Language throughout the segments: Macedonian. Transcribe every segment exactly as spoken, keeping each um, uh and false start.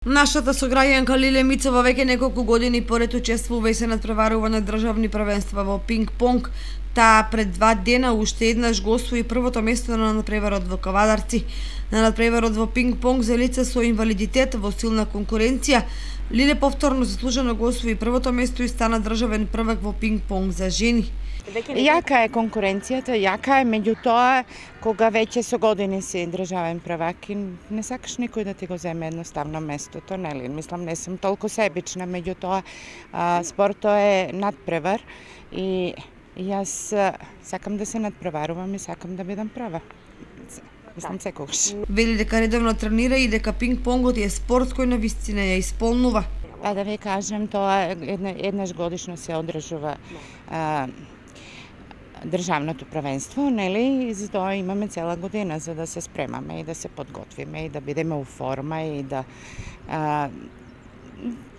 Нашата сограѓанка Лиле Мицова веќе неколку години поред учествува и се надпреварува на државни првенства во пинг-понг. Таа пред два дена уште еднаш го освои првото место на надпреварот во Кавадарци. На надпреварот во пинг-понг за лица со инвалидитет во силна конкуренција, Лиле повторно заслужено го освои првото место и стана државен првак во пинг-понг за жени. Јака е конкуренцијата, јака е, меѓутоа кога веќе со години си државен првак и не сакаш никој да ти го земе едноставно местото, нели? Мислам, не сум толку себична, меѓутоа спорто е надпревар и јас сакам да се надпреварувам и сакам да бидам прва. Мислам секогаш. Вели дека редовно тренира и дека пинг-понгот е спорт кој на вистина ја исполнува. Па да ви кажем, тоа една, еднаш годишно се одржува а, државното првенство, нели? И затоа имаме цела година за да се спремаме и да се подготвиме и да бидеме у форма и да а,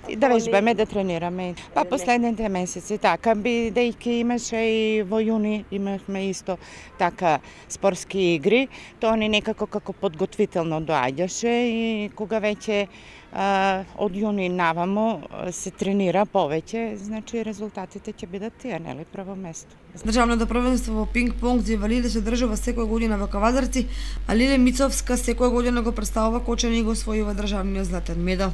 и да вежбаме, да тренираме. Па последните месеци така, бидејќи имаше и во јуни имавме исто така спортски игри, тоа ни некако како подготвително доаѓаше и кога веќе а, од јуни навамо се тренира повеќе, значи резултатите ќе бидат тие, нели, прво место. Државното првенство во пинг-понг за инвалиди се одржува секоја година во Кавадарци, а Лиле Мицовска секоја година го претставува Кочани и го освојува државниот златен медал.